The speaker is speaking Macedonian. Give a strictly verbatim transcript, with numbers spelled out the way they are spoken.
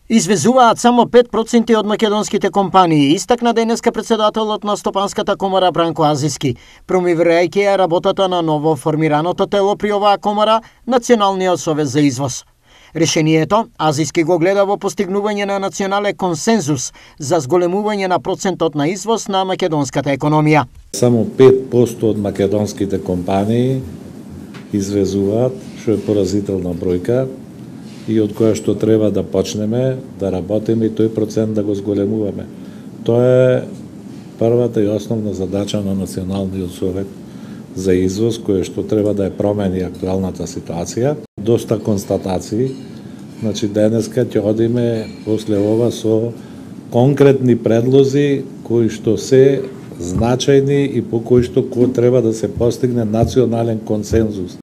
Извезуваат само пет проценти од македонските компании, истакна денеска председателот на Стопанската комора Бранко Азиски, промовирајќи ја работата на ново формираното тело при оваа комора, Националниот совез за извоз. Решението Азиски го гледа во постигнување на национален консензус за зголемување на процентот на извоз на македонската економија. Само пет проценти од македонските компании извезуваат, што е поразителна бројка, и од која што треба да почнеме да работиме и тој процент да го зголемуваме. Тоа е првата и основна задача на Националниот совет за извоз, која што треба да ја промени актуелната ситуација. Доста констатации, значи денеска ќе одиме после ова со конкретни предлози кои што се значајни и по кои што кој треба да се постигне национален консензус.